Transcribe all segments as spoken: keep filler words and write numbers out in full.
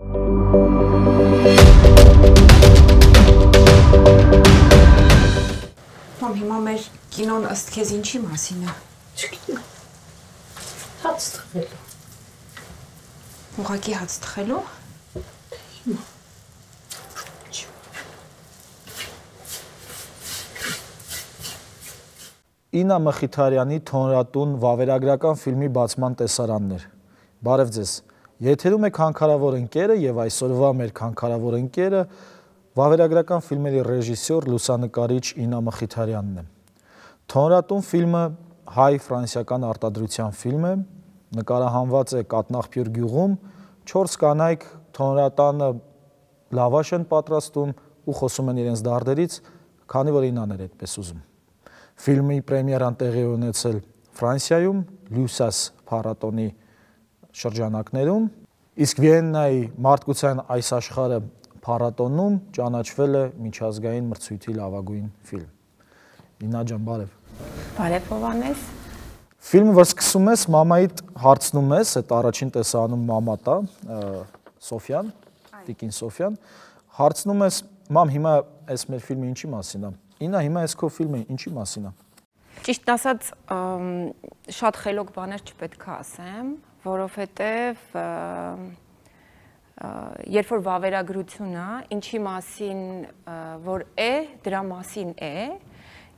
Մամ, հիմա մեր կինոն ըստ քեզ ինչի մասին է։ Չգիտեմ։ Հաց թխելու։ Ուղղակի հաց թխելու։ Հիմա։ Իննա Մխիթարյանի Թոնրատուն վավերագրական ֆիլմի բացման տեսարաններ։ Բարև ձեզ։ Եթերում է քանքարավոր ընկերը եւ այսօրվա մեր քանքարավոր ընկերը վավերագրական ֆիլմերի ռեժիսոր, լուսանկարիչ Իննա Մխիթարյանն է։ Թոնրատուն ֆիլմը հայ-ֆրանսիական արտադրության ֆիլմ է, նկարահանված է Կատնաղբյուր գյուղում, չորս կանայք Թոնրատանը լավաշ են պատրաստում ու խոսում են իրենց դարդերից, քանի որ Իննան էր այդպես ուզում։ Ֆիլմի պրեմիերան տեղի ունեցել Ֆրանսիայում, Լյուսաս փառատոնի շրջանակներում, իսկ Վիեննայի մարդկության այս աշխարհը փառատոնում ճանաչվել է միջազգային մրցույթի լավագույն ֆիլմ։ Իննա ջան, բարև։ Բարև Հովհաննես։ Ֆիլմը, որ սկսում ես, մամայիդ հարցնում ես, այդ առաջին տեսանում մամատ է, Սոֆյան, Տիկին Սոֆյան, հարցնում ես, մամ, հիմա այս մեր ֆիլմը ինչի մասին է։ Իննա, հիմա այս քո ֆիլմը ինչի մասին է։ Ճիշտն ասած, շատ խելոք բաներ չպետք է ասեմ, որովհետև երբ որ վավերագրությունը ինչի մասին որ է, դրա մասին է,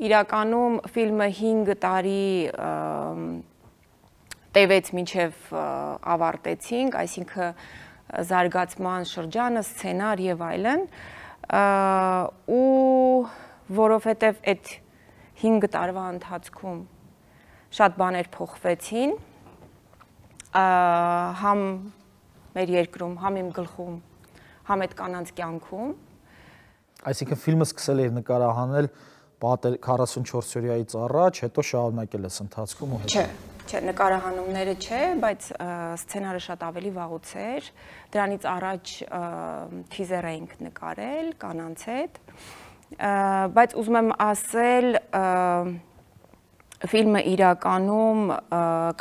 իրականում ֆիլմը հինգ տարի տևեց մինչև ավարտեցինք, այսինքն զարգացման շրջանը, սցենար եւ այլն, ու որովհետև այդ հինգ տարվա ընթացքում շատ բաներ փոխվեցին, համ մեր երկրում, համ իմ գլխում, համ այդ կանանց կյանքում։ Այսինքն ֆիլմը սկսել էր նկարահանել քառասունչորս օրյայից առաջ, հետո շարունակել ես ընթացքում ու հետո։ Չէ, չէ, նկարահանումները չէ, բայց սցենարը շատ ավելի վաղուց էր, դրանից առաջ թիզեր էինք նկարել կանանց հետ, բայց ուզում եմ ասել, ֆիլմը իրականում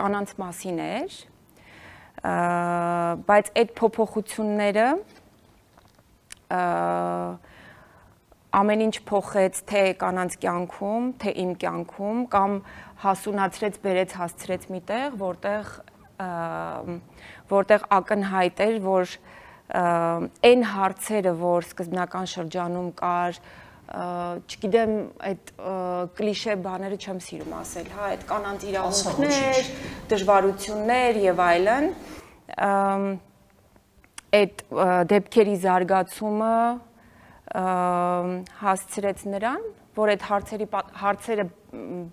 կանանց մասին էր, բայց այդ փոփոխությունները ամեն ինչ փոխեց թե կանանց կյանքում, թե իմ կյանքում, կամ հասունացրեց, բերեց, հասցրեց մի տեղ, որտեղ որտեղ ակնհայտ էր, որ այն հարցերը, որ սկզբնական շրջանում կար, չգիտեմ, այդ կլիշե բաները չեմ սիրում ասել, հա, այդ կանանց իրավունքներ, դժվարություններ եւ այլն, այդ դեպքերի զարգացումը հասցրեց նրան, որ այդ հարցերի հարցերը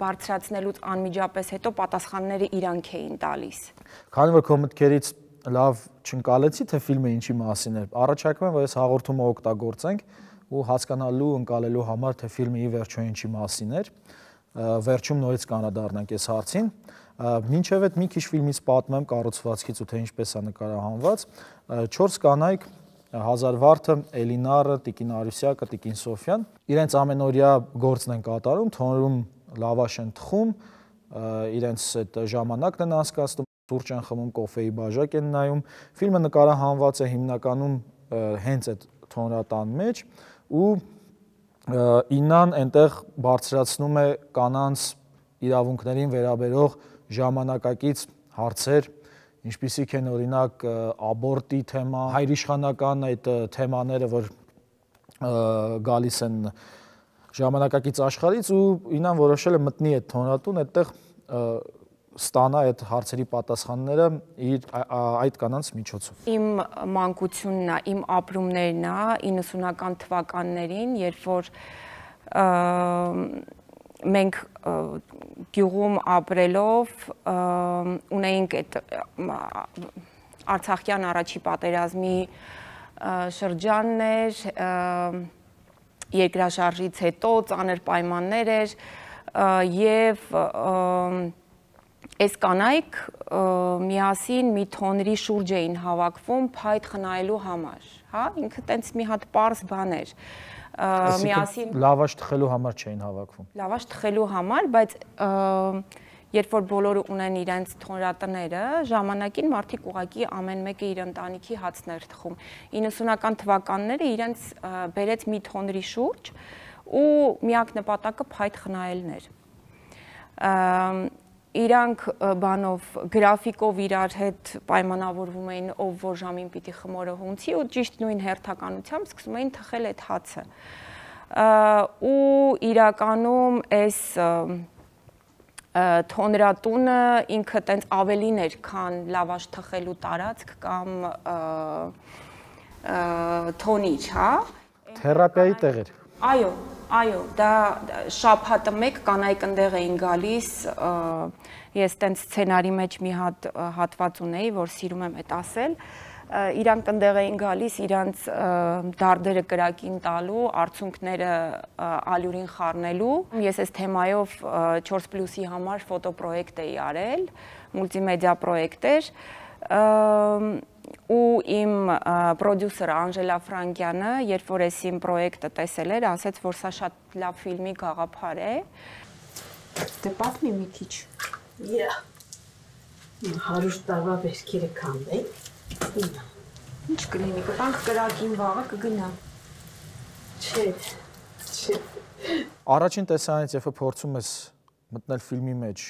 բարձրացնելուց անմիջապես հետո պատասխանները իրանք էին տալիս։ Քանի որ քո մտքերից լավ չընկալեցի, թե ֆիլմը ինչի մասին էր, առաջարկում եմ, որ այս հաղորդումը օգտագործենք ու հասկանալու, ընկալելու համար, թե ֆիլմը ի վերջո ինչի մասին էր, վերջում նորից կանադառնանք այս հարցին։ Մինչև այդ մի քիչ ֆիլմից պատմեմ կառուցվածքից ու թե ինչպես է նկարահանված, չորս կանայք Հազար վարդը, Էլինարը, Տիկին Արուսյակը, Տիկին Սոֆյան, իրենց ամենօրյա գործն են կատարում, թոնրում լավաշ են թխում, իրենց այդ ժամանակն են անցկացնում, սուրճ են խմում, կոֆեի բաժակ են նայում։ Ֆիլմը նկարահանված է հիմնականում հենց այդ թոնրատան մեջ ու Իննան այնտեղ բարձրացնում է կանանց իրավունքներին վերաբերող ժամանակակից հարցեր, ինչպիսիք են օրինակ աբորտի թեմա, հայրիշխանական այդ թեմաները, որ գալիս են ժամանակակից աշխարհից ու Իննան որոշել է մտնի այդ թոնրատուն, այդտեղ ստանա այդ հարցերի պատասխանները իր այդ կանանց միջոցով։ Իմ մանկությունն է, իմ ապրումներն է իննսունական թվականներին, երբ որ մենք գյուղում ապրելով ունեինք այդ Արցախյան առաջի պատերազմի շրջանն էր, երկրաշարժից հետո ծանր պայմաններ էր եւ այս կանայք միասին մի թոնրի շուրջ էին հավաքվում փայտ խնայելու համար, հա, ինքը տենց մի հատ պարզ բան էր։ Միասին լավաշ թխելու համար չէին հավաքվում։ Լավաշ թխելու համար, բայց երբ որ բոլորը ունեն իրենց թոնրատները, ժամանակին մարդիկ ուղղակի ամեն մեկը իր ընտանիքի հացն էր թխում։ իննսունական թվականները իրենց բերեց մի թոնրի շուրջ ու միակ նպատակը փայտ խնայելն էր։ Իրանք բանով գրաֆիկով իրար հետ պայմանավորվում էին, ով որ ժամին պիտի խմորը հունցի ու ճիշտ նույն հերթականությամբ սկսում էին թխել այդ հացը։ Ու իրականում այս թոնրատունը ինքը տենց ավելին էր, քան լավաշ թխելու տարածք կամ թոնիչ, հա։ Թերապիայի տեղ էր։ Այո, այո, դա շաբաթը մեկ կանայք ընդեղ էին գալիս, ես տենց սցենարի մեջ մի հատ հատված ունեի, որ սիրում եմ այդ ասել, իրանք ընդեղ էին գալիս իրանց դարդերը կրակին տալու, արդյունքները ալյուրին խառնելու։ Ես այս թեմայով չորս պլյուսի համար ֆոտոպրոյեկտ էի արել, մուլտիմեդիա պրոյեկտ էր, ու իմ պրոդյուսերը Անժելա Ֆրանկյանը, երբ որ այս իմ պրոյեկտը տեսել էր, ասեց, որ սա շատ լավ ֆիլմի գաղափար է։ Դե պատմի մի քիչ։ Yeah. հարյուր տարվա վերքերը քանդենք։ Ինչ կլինի, կտանք կրակին վաղը կգնա։ Չէ, չէ։ Առաջին տեսանից երբ փորձում ես մտնել ֆիլմի մեջ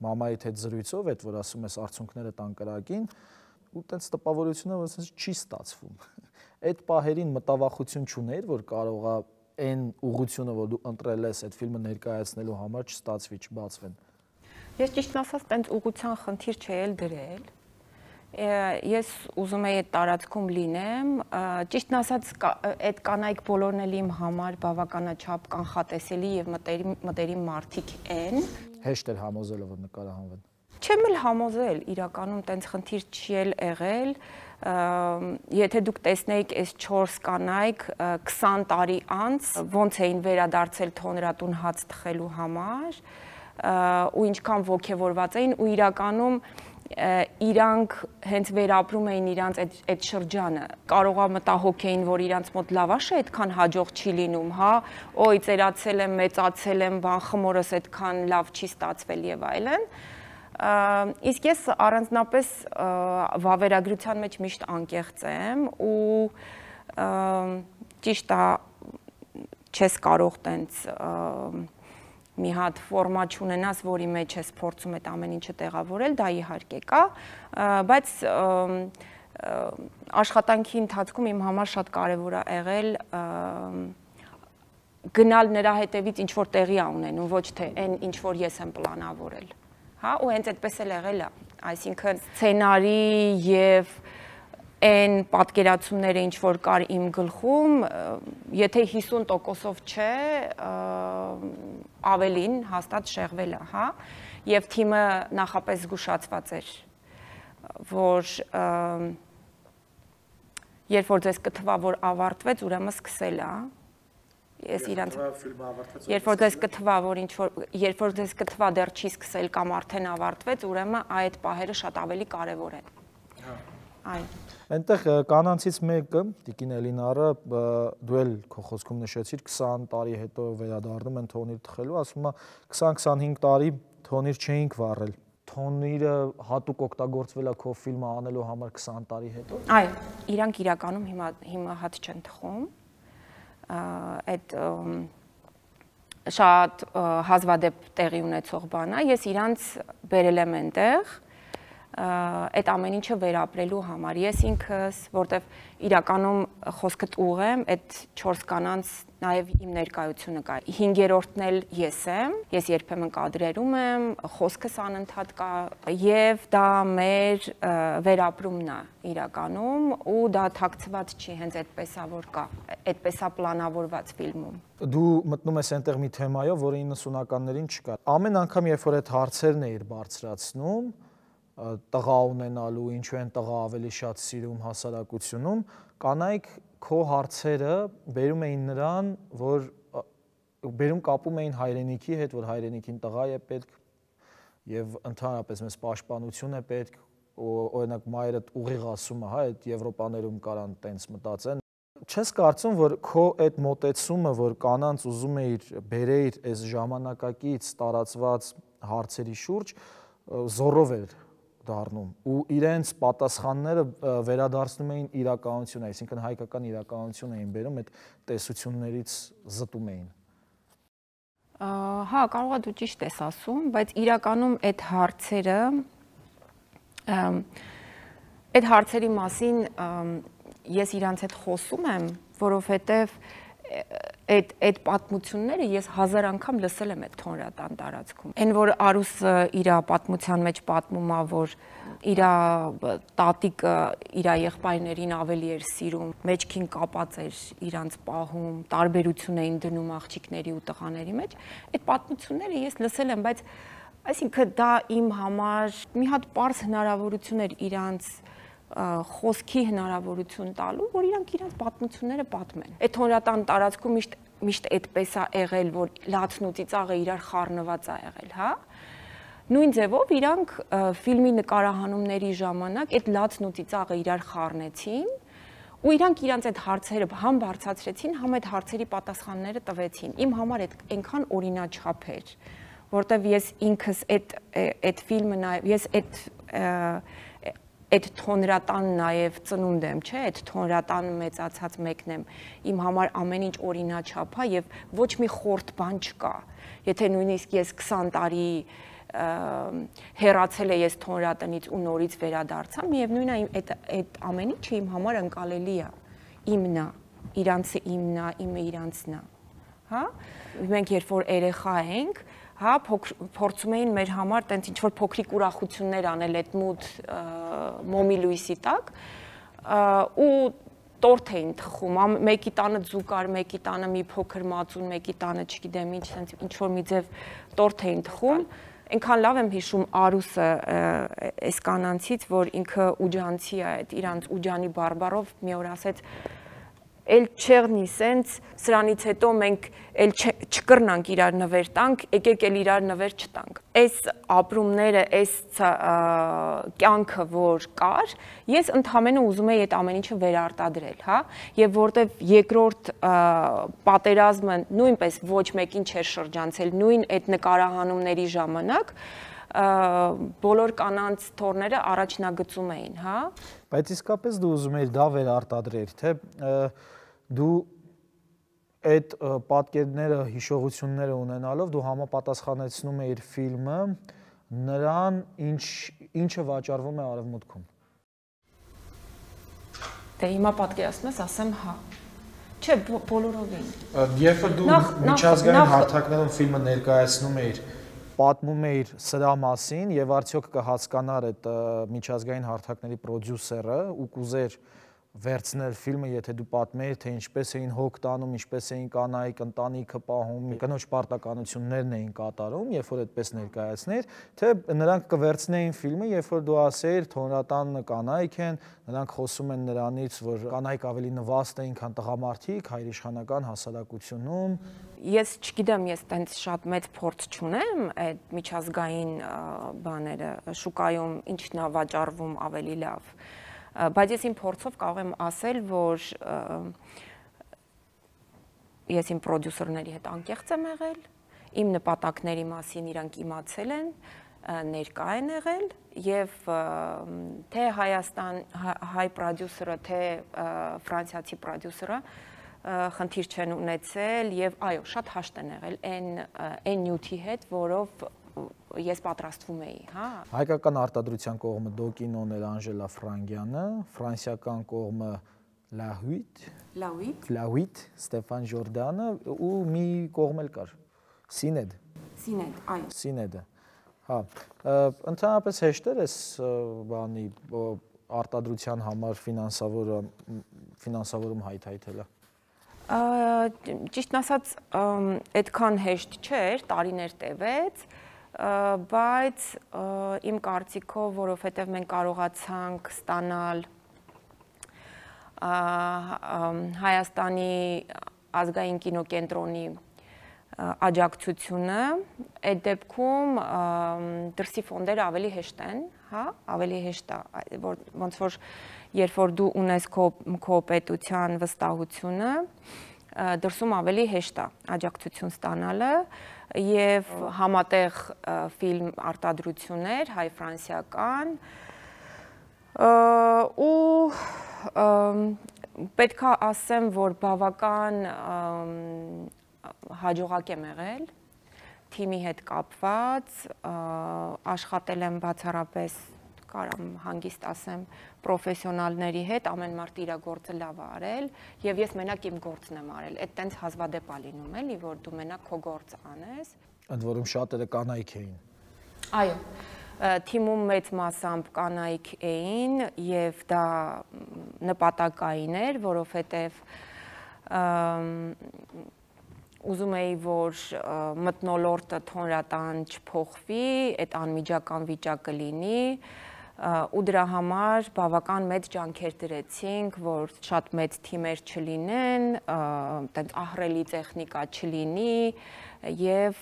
մամայիդ հետ զրույցով, այդ որ ասում ես արդյունքները տան կրակին, ու տենց տպավորությունը որ ասես չի ստացվում։ Այդ պահերին մտավախություն չուներ, որ կարողա այն ուղղությունը, որ դու ընտրել ես այդ ֆիլմը ներկայացնելու համար չստացվի, չբացվեն։ Ես ճիշտն ասած տենց ուղղության խնդիր չէի էլ դրել։ Ես ուզում եի այդ տարածքում լինեմ, ճիշտն ասած այդ կանայք բոլորն էլ իմ համար բավականաչափ կանխատեսելի եւ մտերիմ մարդիկ են։ Հեշտ էր համոզելը, որ նկարահանվեն։ Չեմ էլ համոզել, իրականում տենց խնդիր չի էլ եղել, եթե դուք տեսնեիք այս չորս կանայք քսան տարի անց ոնց էին վերադարձել թոնրատուն հաց թխելու համար, ու ինչքան ոգևորված էին ու իրականում իրանք հենց վերապրում էին իրանց այդ շրջանը, կարողա մտահոգեին, որ իրանց մոտ լավաշը այդքան հաջող չի լինում, հա, օй ծերացել եմ, մեծացել եմ, բան խմորս այդքան լավ չի ստացվել եւ այլն։ Իսկ ես առանձնապես վավերագրության մեջ միշտ անկեղծ եմ ու ճիշտ է չես կարող տենց մի հատ ֆորմատ չունենաս, որի մեջ ես փորձում այդ ամեն ինչը տեղավորել, դա իհարկե կա, բայց աշխատանքի ընթացքում իմ համար շատ կարևոր է եղել գնալ նրա հետևից ինչ որ տեղի է ունենում, ոչ թե այն ինչ որ ես եմ պլանավորել, հա, ու հենց այդպես էլ եղել է, այսինքն սցենարի եւ այն պատկերացումները ինչ որ կար իմ գլխում, եթե հիսուն տոկոսով չէ, ավելին հաստատ շեղվել է, հա, եւ թիմը նախապես զգուշացված էր, որ երբ որ ձեզ կթվա, որ ավարտվեց, ուրեմն սկսել է, ես իրանց երբ որ ձեզ կթվա, որ ինչ որ երբ որ ձեզ կթվա դեռ չի սկսել կամ արդեն ավարտվեց, ուրեմն այդ պահերը շատ ավելի կարեւոր են։ Այո։ Այնտեղ կանանցից մեկը, Տիկին Էլինարը, դու էլ քո խոսքում նշեցիր, քսան տարի հետո վերադառնում են թոնիր թխելու, ասում է քսան քսանհինգ տարի թոնիր չէինք վառել։ Թոնիրը հատուկ օգտագործվել է քո ֆիլմը անելու համար քսան տարի հետո։ Այո, իրանք իրականում հիմա հիմա հատ չեն թխում։ Այդ շատ հազվադեպ տեղի ունեցող բան է, ես իրանց բերել եմ այնտեղ այդ ամեն ինչը վերապրելու համար, ես ինքս, որտեվ իրականում խոսքդ ուղեմ, այդ չորս կանանց նաև իմ ներկայությունը կա, հինգերորդն էլ ես եմ, ես երբեմն կադրերում եմ, խոսքս անընդհատ կա, եւ դա մեր վերապրումն է իրականում, ու դա թաքցված չի, հենց այդպես է որ կա, այդպես է պլանավորված ֆիլմում։ Դու մտնում ես այնտեղ մի թեմայով, որը իննսունականներին չկա։ Ամեն անգամ, երբ որ այդ հարցերն էիր բարձրացնում, տղա ունենալու, ինչու են տղա ավելի շատ սիրում հասարակությունում, կանայք քո հարցերը բերում էին նրան, որ բերում կապում էին հայրենիքի հետ, որ հայրենիքին տղա է պետք եւ ընդհանրապես մեզ պաշտպանություն է պետք, օրինակ մայրդ ուղիղ ասում է, հա, այդ Եվրոպաներում կարան տենց մտածեն։ Չես կարծում, որ քո այդ մոտեցումը, որ կանանց ուզում էիր բերեիր այս ժամանակակից տարածված հարցերի շուրջ զորով էր դառնում ու իրենց պատասխանները վերադարձնում էին իրականություն, այսինքն հայկական իրականություն էին բերում, այդ տեսություններից զտում էին։ Հա, կարող է դու ճիշտ ես ասում, բայց իրականում այդ հարցերը այդ հարցերի մասին ես իրանց հետ խոսում եմ, որովհետև այդ այդ պատմությունները ես հազար անգամ լսել եմ այդ թոնրատան տարածքում։ Այն որ Արուսը իր պատմության մեջ պատմում է, որ իր տատիկը իր եղբայրներին ավելի էր սիրում, մեջքին կապած էր իրանց պահում, տարբերություն էին դնում աղջիկների ու տղաների մեջ, այդ պատմությունները ես լսել եմ, բայց այսինքն դա իմ համար մի հատ պարզ հնարավորություն էր իրանց խոսքի հնարավորություն տալու, որ իրանք իրանց պատմությունները պատմեն։ Այդ թոնրատան տարածքում միշտ միշտ այդպես է եղել, որ լացն ու ծիծաղը իրար խառնված է եղել, հա։ Նույն ձևով իրանք ֆիլմի նկարահանումների ժամանակ այդ լացն ու ծիծաղը իրար խառնեցին ու իրանք իրանց այդ հարցերը համ բարձրացրեցին, համ այդ հարցերի պատասխանները տվեցին։ Իմ համար այդ այնքան օրինաչափ էր, որտեվ ես ինքս այդ այդ ֆիլմը նայ ես այդ այդ թոնրատան նաև ծնունդ եմ, չէ, այդ թոնրատան մեծացած մեկն եմ, իմ համար ամեն ինչ օրինաչափ է եւ ոչ մի խորտ բան չկա։ Եթե նույնիսկ ես քսան տարի հեռացել է ես թոնրատնից ու նորից վերադարձա, միևնույն է այդ այդ ամեն ինչը իմ համար ընկալելի է, իմն է, իրանցը իմն է, իմը իրանցն է, հա։ Մենք երբ որ երեխա ենք, հա, փորձում էին մեր համար տենց ինչ-որ փոքրիկ ուրախություններ անել այդ մութ մոմի լույսի տակ ու տորթ էին թխում, մեկի տանը ձուկ կար, մեկի տանը մի փոքր մածուն, մեկի տանը չգիտեմ ինչ, ինչ-որ մի ձև տորթ էին թխում, այնքան լավ եմ հիշում Արուսը այս կանանցից, որ ինքը ուջանցի է, այդ իրանց ուջանի բարբարով մի օր ասեց էլ չեղնի սենց, սրանից հետո մենք էլ չկրնանք իրար նվեր տանք, եկեք էլ իրար նվեր չտանք։ Այս ապրումները, այս կյանքը, որ կար, ես ընդհանրապես ուզում եի այդ ամեն ինչը վերարտադրել, հա, եւ որտեվ երկրորդ պատերազմը նույնպես ոչ մեկին չէր շրջանցել, նույն այդ նկարահանումների ժամանակ բոլոր կանանց թորները առաջնագծում էին, հա։ Բայց իսկապես դու ուզում ես դա վերարտադրել, թե դու այդ պատկերները, հիշողությունները ունենալով դու համապատասխանեցնում ես ֆիլմը նրան, ինչ ինչը վաճառվում է Արևմուտքում։ Դե հիմա պատկերացնում ես, ասեմ հա։ Չէ, բոլորովին։ Երբ որ դու միջազգային հարթակներում ֆիլմը ներկայացնում ես, պատմում էիր սրա մասին եւ արդյոք կհասկանար այդ միջազգային հարթակների պրոդյուսերը ու կուզեր վերցնել ֆիլմը, եթե դու պատմեիր, թե ինչպես էին հոգ տանում, ինչպես էին կանայք ընտանիքը պահում, կնոջ պարտականություններն էին կատարում, երբ որ այդպես ներկայացներ, թե նրանք կվերցնեին ֆիլմը, երբ որ դու ասեիր թոնրատան կանայք են, նրանք խոսում են նրանից, որ կանայք ավելի նվաստ էին, քան տղամարդիկ հայրիշխանական հասարակությունում։ Ես չգիտեմ, ես տենց շատ մեծ փորձ չունեմ այդ միջազգային բաները, շուկայում ինչն է վաճառվում ավելի լավ, բայց ես իմ փորձով կարող եմ ասել, որ ես իմ պրոդյուսերների հետ անկեղծ եմ եղել, իմ նպատակների մասին իրանք իմացել են, ներկա են եղել եւ թե Հայաստան հայ պրոդյուսերը, թե ֆրանսիացի պրոդյուսերը խնդիր չեն ունեցել եւ այո, շատ հաշտ են եղել այն այն նյութի հետ, որով ես պատրաստվում էի, հա։ Հայկական արտադրության կողմը Դոկինոն էր Անժելա Ֆրանգյանը, ֆրանսիական կողմը La huit, La huit, La huit, Ստեփան Ժորդանը ու մի կողմ էլ կար, Սինեդ։ Սինեդ, այո։ Սինեդը։ Հա, ընդհանրապես հեշտ էր այս բանի արտադրության համար ֆինանսավորը ֆինանսավորում հայթայթելը։ Ճիշտն ասած, այդքան հեշտ չէր, տարիներ տևեց, բայց իմ կարծիքով, որովհետև մենք կարողացանք ստանալ Հայաստանի ազգային կինոկենտրոնի աջակցությունը, այդ դեպքում դրսի ֆոնդերը ավելի հեշտ են, հա, ավելի հեշտ է, ոնց որ երբ որ դու ունես քո պետության վստահությունը, դրսում ավելի հեշտ է աջակցություն ստանալը եւ համատեղ ֆիլմ արտադրություններ հայ-ֆրանսիական ու պետք է ասեմ, որ բավական հաջողակ եմ եղել թիմի հետ կապված, աշխատել եմ բացառապես, կարամ հանգիստ ասեմ, պրոֆեսիոնալների հետ, ամեն մարդ իր գործը լավ է արել, եւ ես մենակ իմ գործն եմ արել։ Այդ տենց հազվադեպ է լինում, էլի, որ դու մենակ քո գործը անես։ Ընդ որում շատերը կանայք էին։ Այո, թիմում մեծ մասամբ կանայք էին եւ դա նպատակային էր, որովհետեւ ուզում էի, որ մթնոլորտը թոնրատան չփոխվի, այդ անմիջական վիճակը լինի ու դրա համար բավական մեծ ջանքեր դրեցինք, որ շատ մեծ թիմեր չլինեն, այդպես ահռելի տեխնիկա չլինի եւ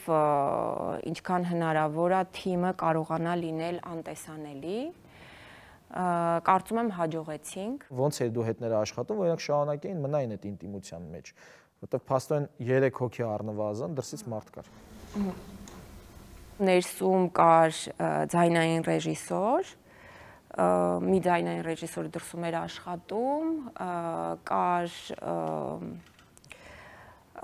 ինչքան հնարավոր է թիմը կարողանա լինել անտեսանելի։ Կարծում եմ հաջողեցինք։ Ոնց էր դու հետները աշխատում, որ իրանք շարունակեին մնային այդ ինտիմության մեջ, որտեղ փաստորեն երեք հոգի առնվազն դրսից մարդ կար։ Ներսում կար ձայնային ռեժիսոր, մի ձայնային ռեժիսոր դրսում էր աշխատում, կար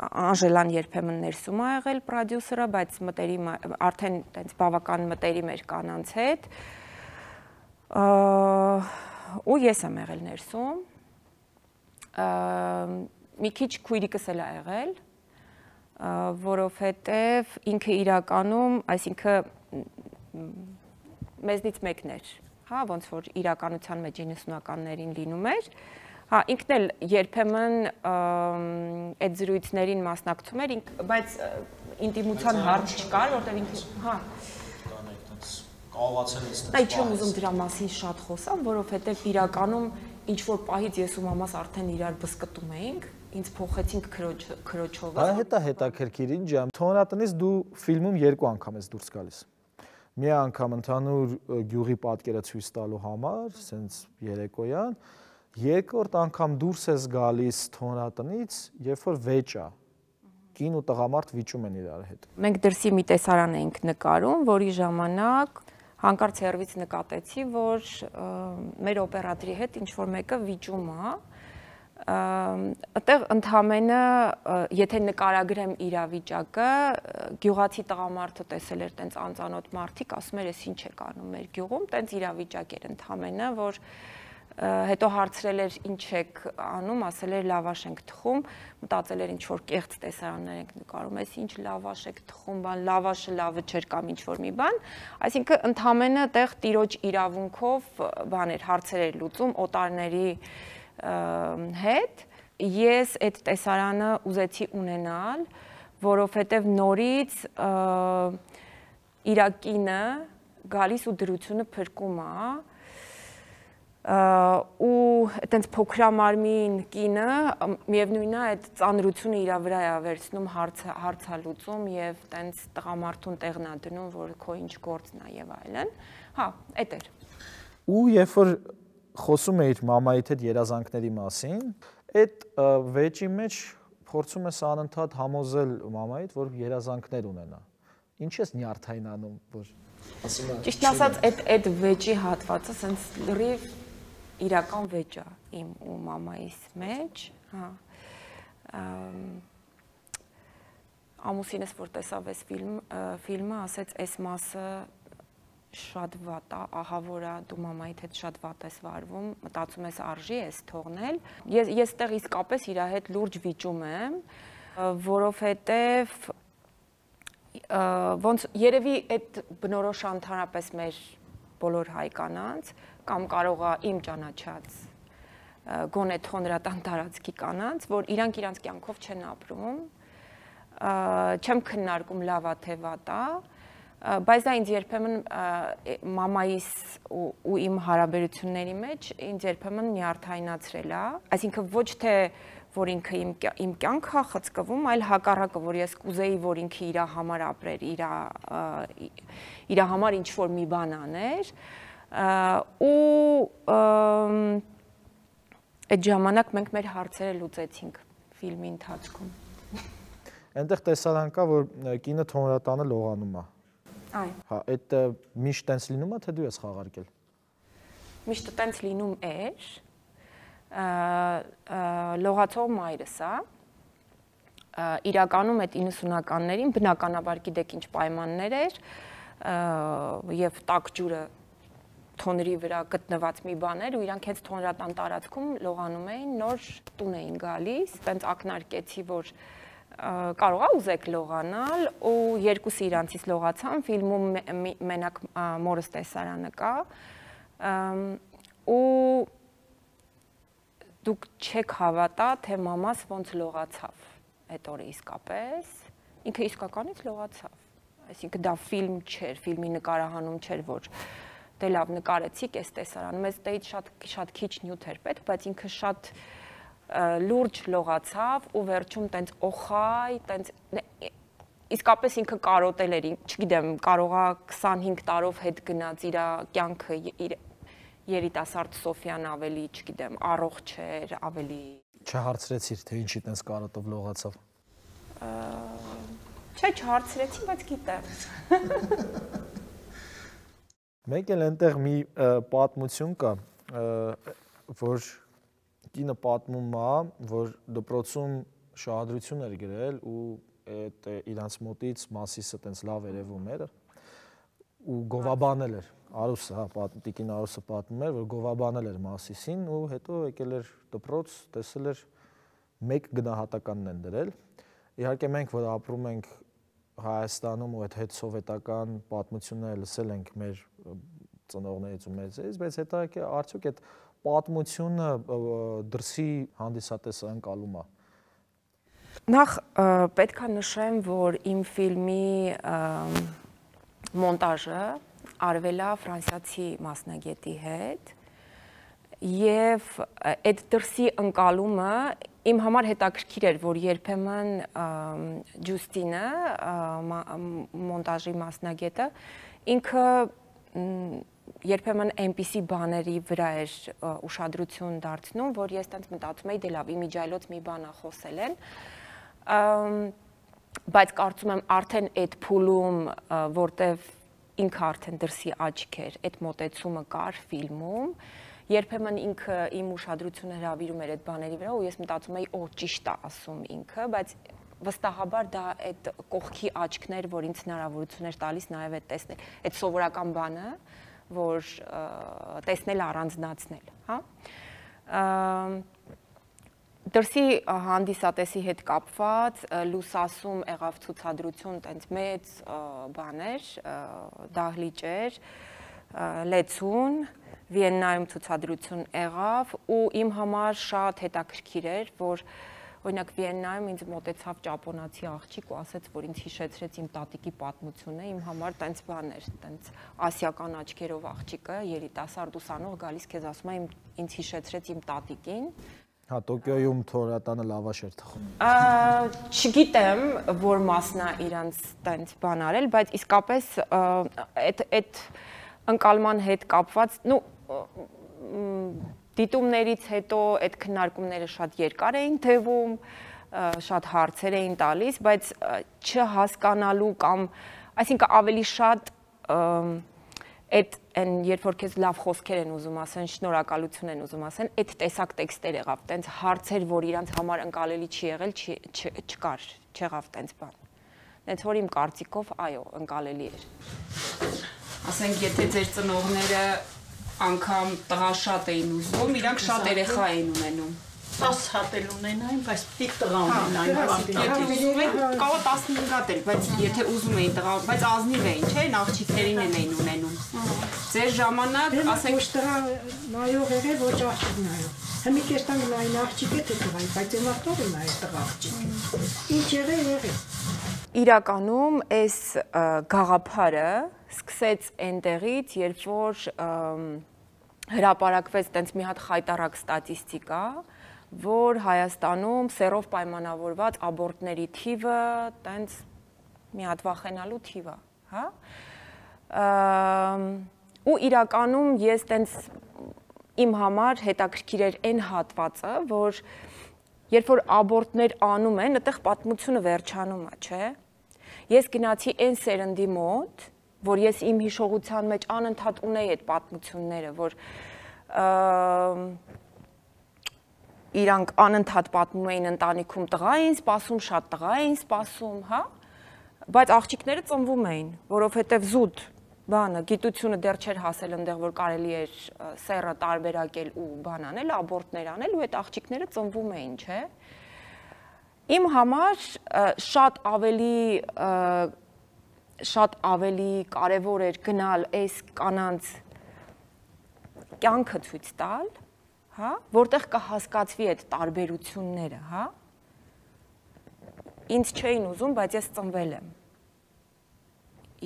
Անժելան երբեմն ներսում է եղել պրոդյուսերը, բայց մտերիմ արդեն տենց բավական մտերիմ էր կանանց հետ։ Ու ես եմ եղել ներսում, մի քիչ քույրիկս էլ է եղել, որովհետև ինքը իրականում, այսինքն մեզնից մեկն էր, հա, ոնց որ իրականության մեջ իննսունականներին լինում էր, հա, ինքն էլ երբեմն այդ զրույցներին մասնակցում էր, բայց ինտիմության հարց չկար, որտեղ ինքը, հա, Այ չեմ ուզում դրա մասին շատ խոսամ, որովհետև իրականում ինչ-որ պահից ես ու մամաս արդեն իրար բսկտում էինք, ինձ փոխեցինք քրոջով։ Դա հետա հետաքրքիր ինչ է։ Թոնրատնից դու ֆիլմում երկու անգամ ես դուրս գալիս։ Մի անգամ ընդհանուր գյուղի պատկերը ցույց տալու համար, սենց երեկոյան, երկրորդ անգամ դուրս ես գալիս Թոնրատնից, երբ որ վեճ է։ Կին ու տղամարդ վիճում են իրար հետ։ Մենք դրսի մի տեսարան էինք նկարում, որի ժամանակ հանկարծ հեռվից նկատեցի, որ մեր օպերատորի հետ ինչ-որ մեկը վիճում է, այդտեղ ընդհանրապես, եթե նկարագրեմ իրավիճակը, գյուղացի տղամարդը տեսել էր տենց անծանոթ մարդիկ, ասում էր, ես ինչ եք անում մեր գյուղում, տենց իրավիճակ էր ընդհանրապես, որ հետո հարցրել էր ինչ եք անում, ասել էր լավաշ ենք թխում, մտածել էր ինչ որ կեղծ տեսարաններ ենք նկարում, այս ինչ լավաշ եք թխում, բան լավաշը լավը չէր կամ ինչ որ մի բան, այսինքն ընդհանրապես տեղ տիրոջ իրավունքով բան էր հարցեր էր լուծում օտարների հետ, ես այդ տեսարանը ուզեցի ունենալ, որովհետև նորից իր կինը գալիս ու դրությունը փրկում է ու այտենց փոքրամարմին կինը միևնույնն է այդ ծանրությունը իր վրա է վերցնում հարցալուծում եւ այտենց տղամարդուն տեղն է դնում որ քո ինչ գործն է եւ այլն հա այդ էր ու երբ որ խոսում էիր մամայիդ հետ երազանքների մասին այդ վեճի մեջ փորձում ես անընդհատ համոզել մամայիդ որ երազանքներ ունենա ինչ ես նյարդայնանում որ ասում եմ ճիշտ ասած այդ այդ վեճի հատվածը սենց լրիվ իրական վեճ է իմ ու մամայիս մեջ, հա, ամուսինս որ տեսավ այս ֆիլմը, ասեց այս մասը շատ վատ է, ահա որ դու մամայիդ հետ շատ վատ ես վարվում, մտածում ես արժի ես թողնել, ես տեղ իսկապես իր հետ լուրջ վիճում եմ, որովհետև ոնց երևի այդ բնորոշ ընդհանրապես մեր բոլոր հայ կանանց կամ կարող է իմ ճանաչած գոնե թոնրատան տարածքի կանանց, որ իրանք իրանք կյանքով չեն ապրում, չեմ քննարկում լավ է թե վատ է, բայց դա ինձ երբեմն մամայիս ու իմ հարաբերությունների մեջ ինձ երբեմն նյարդայնացրել է, այսինքն ոչ թե որ ինքը իմ կյանքը է խցկվում, այլ հակառակը, որ ես կուզեի, որ ինքը իր համար ապրեր, իր համար ինչ-որ մի բան աներ, ու այդ ժամանակ մենք մեր հարցերը լուծեցինք ֆիլմի ընթացքում։ Այնտեղ տեսարան կա, որ կինը թոնրատանը լողանում է։ Այո։ Հա, այդ միշտ տենց լինում է, թե դու ես խաղարկել։ Միշտ տենց լինում էր։ Լողացող մայրս է։ Իրականում այդ իննսունականներին բնականաբար գիտեք ինչ պայմաններ էր եւ տաք ջուրը թոնրի վրա գտնված մի բան էր ու իրանք հենց թոնրատան տարածքում լողանում էին, նոր տուն էին գալիս, տենց ակնարկեցի, որ կարող է ուզեք լողանալ ու երկուսը իրանցից լողացան, ֆիլմում մենակ մորս տեսարանը կա ու դուք չեք հավատա, թե մամաս ոնց լողացավ այդ օրը իսկապես, ինքը իսկականից լողացավ, այսինքն դա ֆիլմ չէր, ֆիլմի նկարահանում չէր, որ դե լավ նկարեցիք այս տեսարանում, մեզ դեից շատ քիչ նյութ էր պետք, բայց ինքը շատ լուրջ լողացավ ու վերջում տենց օխայ, տենց իսկապես ինքը կարոտել էր, չգիտեմ, կարողա քսանհինգ տարով հետ գնաց իր կյանքը, երիտասարդ Սոֆյան ավելի, չգիտեմ, առողջ էր, ավելի Չհարցրեցիր, թե ինչի տենց կարոտով լողացավ։ Չէ, չհարցրեցի, բայց գիտեմ։ Մեկ էլ այնտեղ մի պատմություն կա, որ կինը պատմում է, որ դպրոցում շահադրություն էր գրել ու այդ իրանց մոտից Մասիսը տենց լավ երևում էր ու գովաբանել էր, Արուսը, հա, տիկին Արուսը պատմում էր, որ գովաբանել էր Մասիսին ու հետո եկել էր դպրոց, տեսել էր մեկ գնահատականն են դրել։ Իհարկե մենք, որ ապրում ենք Հայաստանում ու այդ հետ սովետական պատմությունները լսել ենք մեր ծնողներից ու մեծերից, բայց հետո արդյոք այդ պատմությունը դրսի հանդիսատեսը ընկալում է։ Նախ պետք է նշեմ, որ իմ ֆիլմի մոնտաժը արվել է ֆրանսիացի մասնագետի հետ եւ այդ դրսի ընկալումը իմ համար հետաքրքիր էր, որ երբեմն Ջուստինը, մոնտաժի մասնագետը, ինքը երբեմն այնպիսի բաների վրա էր ուշադրություն դարձնում, որ ես տենց մտածում էի, դե լավ, իմիջայլոց մի բան է խոսել են, բայց կարծում եմ արդեն այդ փուլում, որտեվ ինքը արդեն դրսի աչք էր, այդ մոտեցումը կար ֆիլմում, երբեմն ինքը իմ ուշադրությունը հրավիրում էր այդ բաների վրա ու ես մտածում էի, օ, ճիշտ է ասում ինքը, բայց վստահաբար դա այդ կողքի աչքներ, որ ինձ հնարավորություն էր տալիս նաև այդ տեսնել, այդ սովորական բանը, որ տեսնել առանձնացնել, հա։ Դրսի հանդիսատեսի հետ կապված լուսասում եղավ ցուցադրություն, տենց մեծ բաներ, դահլիճեր, լեցուն, Վիեննայում ցուցադրություն եղավ ու իմ համար շատ հետաքրքիր էր, որ օրինակ Վիեննայում ինձ մոտեցավ ճապոնացի աղջիկ ու ասեց, որ ինձ հիշեցրեց իմ տատիկի պատմությունը, իմ համար տենց բան էր, տենց ասիական աչքերով աղջիկը, երիտասարդ ուսանող գալիս քեզ ասում է, ինձ հիշեցրեց իմ տատիկին։ Հա, Տոկիոյում թորատանը լավաշ էր թխում։ Չգիտեմ, որ մասն է իրանց տենց բան արել, բայց իսկապես այդ այդ ընկալման հետ կապված, նու դիտումներից հետո այդ քննարկումները շատ երկար էին թեվում, շատ հարցեր էին տալիս, բայց չհասկանալու կամ, այսինքն ավելի շատ այդ այն երբ որ քեզ լավ խոսքեր են ուզում ասեն, շնորհակալություն են ուզում ասեն, այդ տեսակ տեքստեր եղավ, տենց հարցեր, որ իրանց համար ընկալելի չի եղել, չկար, չեղավ տենց բան։ Տենց որ իմ կարծիքով, այո, ընկալելի էր։ Ասենք, եթե ձեր ծնողները անգամ տղա շատ էին ուզում, իրանք շատ երեխա էին ունենում։ տասը հատ էլ ունենային, բայց պիտի տղա ունենային։ Կարող տասնհինգ հատ էլ, բայց եթե ուզում էին տղա, բայց ազնիվ էին, չէ՞, աղջիկներին են էին ունենում։ Ձեր ժամանակ, ասենք, ոչ տղա նայող եղել, ոչ աղջիկ նայող։ Հիմա կեստան նային աղջիկ է թե տղայի, բայց իմաստով է նայել տղա աղջիկ։ Ինչ եղել, եղել։ Իրականում այս գաղափարը սկսեց այնտեղից, երբ որ հրապարակվեց տենց մի հատ խայտառակ ստատիստիկա, որ Հայաստանում սեռով պայմանավորված աբորտների թիվը տենց մի հատ վախենալու թիվ է, հա։ Ու իրականում ես տենց իմ համար հետաքրքիր էր այն հատվածը, որ երբ որ աբորտներ անում են, այդտեղ պատմությունը վերջանում է, չէ։ Ես գնացի այն սերնդի մոտ, որ ես իմ հիշողության մեջ անընդհատ ունեի այդ պատմությունները, որ իրանք անընդհատ պատմում էին ընտանիքում տղա էին սպասում, շատ տղա էին սպասում, հա, բայց աղջիկները ծնվում էին, որովհետև զուտ բանը, գիտությունը դեռ չէր հասել այնտեղ, որ կարելի էր սեռը տարբերակել ու բան անել, աբորտներ անել ու այդ աղջիկները ծնվում էին, չէ։ Իմ համար շատ ավելի շատ ավելի կարևոր էր գնալ այս կանանց կյանքը ցույց տալ, հա, որտեղ կհասկացվի այդ տարբերությունները, հա։ Ինձ չէին ուզում, բայց ես ծնվել եմ։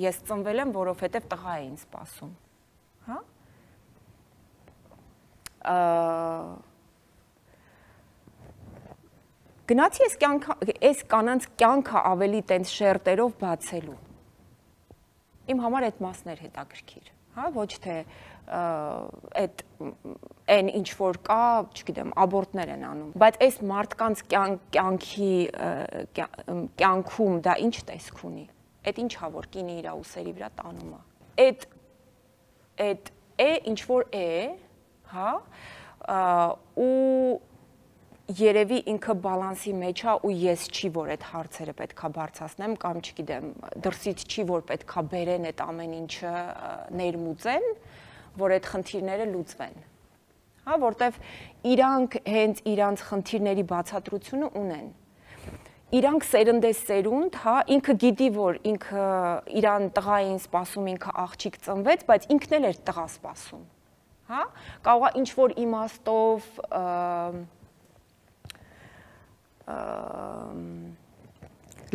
Ես ծնվել եմ, որովհետև տղա էին սպասում, հա։ Գնացի այս կյանքը, այս կանանց կյանքը ավելի տենց շերտերով բացելու։ Իմ համար այդ մասն էր հետաքրքիր, հա, ոչ թե այդ այն ինչ որ կա, չգիտեմ, աբորտներ են անում, բայց այս մարդկանց կյանքի կյանքում դա ինչ տեսք ունի։ Այդ ինչ հա որ կինը իր ուսերի վրա տանում է։ Այդ այդ է ինչ որ է, հա, ու երևի ինքը բալանսի մեջ է ու ես չի որ այդ հարցերը պետքա բարձրացնեմ կամ չգիտեմ, դրսից չի որ պետքա բերեն այդ ամեն ինչը ներմուծեն, որ այդ խնդիրները լուծվեն։ Հա, որտեվ իրանք հենց իրանց խնդիրների բացատրությունը ունեն։ Իրանք սերնդես սերունդ, հա, ինքը գիտի, որ ինքը իրան տղա էին սպասում, ինքը աղջիկ ծնվեց, բայց ինքն էլ էր տղա սպասում, հա, կարող է ինչ որ իմաստով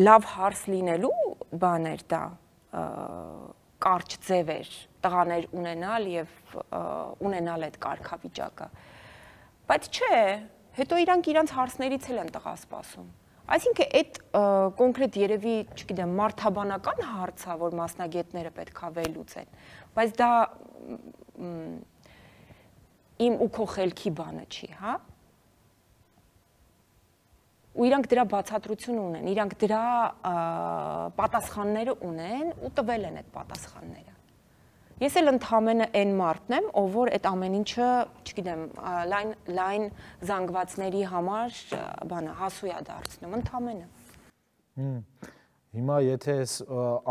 լավ հարց լինելու բաներ դա կարճ ձև էր տղաներ ունենալ եւ ունենալ այդ կարգավիճակը, բայց չէ, հետո իրանք իրանց հարցներից էլ են տղա սպասում։ Այսինքն այդ կոնկրետ երևի, չգիտեմ, մարդաբանական հարց է, որ մասնագետները պետքա վերլուծեն, բայց դա իմ ու քո խելքի բանը չի, հա։ Ու իրանք դրա բացատրություն ունեն, իրանք դրա պատասխանները ունեն ու տվել են այդ պատասխանները։ Ես էլ ընդհանրապես այն մարդն եմ, ով որ այդ ամեն ինչը, չգիտեմ, լայն լայն զանգվածների համար բանը հասու է դարձնում, ընդհանրապես։ Հիմա եթե այս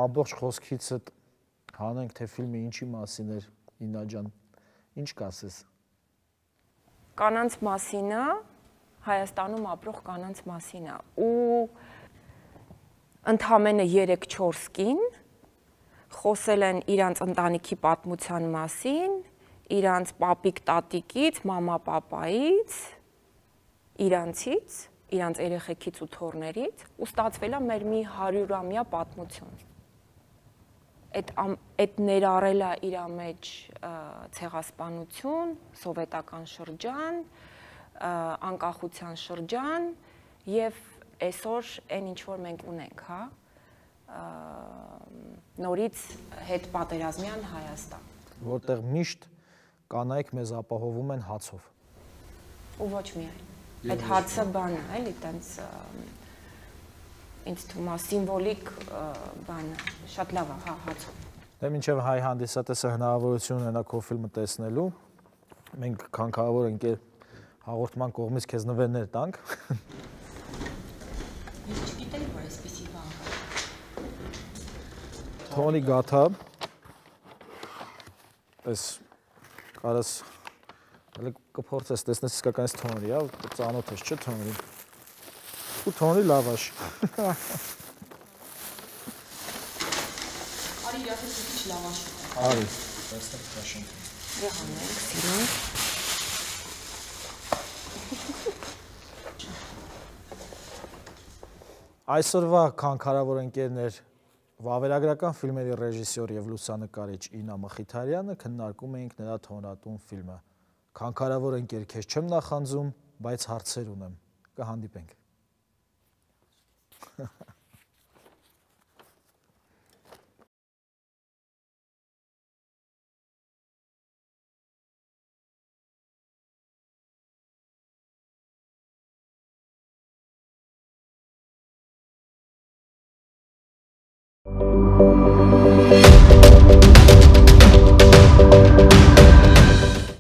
ամբողջ խոսքիցդ հանենք, թե ֆիլմը ինչի մասին էր, Իննա ջան, ինչ կասես։ Կանանց մասին է, Հայաստանում ապրող կանանց մասին է, ու ընդհանրապես երեք-չորս կին խոսել են իրանց ընտանիքի պատմության մասին, իրանց պապիկ տատիկից, մամա պապայից, իրանցից, իրանց երեխեքից ու թոռներից, ու ստացվել է մեր մի հարյուրամյա պատմություն։ Այդ այդ ներառել է իր մեջ ցեղասպանություն, սովետական շրջան, անկախության շրջան եւ այսօր այն ինչ որ մենք ունենք, հա, նորից հետ պատերազմյան Հայաստան, որտեղ միշտ կանայք մեզ ապահովում են հացով։ Ու ոչ միայն։ Այդ հացը բան է, էլի, տենց ինձ թվում է սիմվոլիկ բան է, շատ լավ է, հա, հացով։ Դե մինչև հայ հանդիսատեսը հնարավորություն ունենա քո ֆիլմը տեսնելու, մենք քանքավոր ենք հաղորդման կողմից քեզ նվերներ տանք։ Ես չգիտեմ, որ այսպեսի բան կա։ Թոնի գաթա։ Այս կարաս հələ կփորձես տեսնես իսկականից թոնի, հա, ծանոթ ես, չէ՞ թոնի։ Ու թոնի լավաշ։ Արի իրաց մի քիչ լավաշ։ Արի, այստեղ քաշենք։ Եղանենք, սիրուն։ Այսօրվա քանքարավոր ընկերներ վավերագրական ֆիլմերի ռեժիսոր եւ լուսանկարիչ Իննա Մխիթարյանը քննարկում էինք նրա թոնատուն ֆիլմը։ Քանքարավոր ընկեր, քեզ չեմ նախանձում, բայց հարցեր ունեմ։ Կհանդիպենք։ Thank you.